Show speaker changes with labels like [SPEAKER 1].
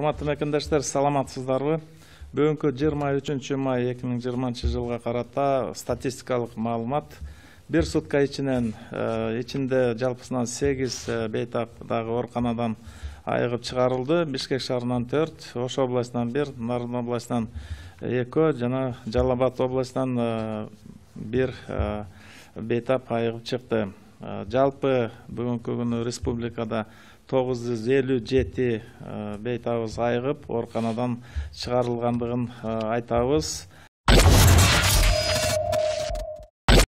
[SPEAKER 1] Урматтуу мекендештер, саламатсыздарбы? Бүгүнкү 23 май 2020 жылга карата статистикалык маалымат. Бир сутка ичинде жалпысынан 8 бейтап-дагы ооруканадан айыгып чыгарылды. Бишкек шаарынан 4, Ош областынан 1, Нарын областынан 2 жана Жалал Абад областынан 1 бейтап айыгып чыкты. Жалпы бүгүнкү күнү республикада 957 бейтабыз айыгып ооруканадан чыгарылгандыгын айтабыз.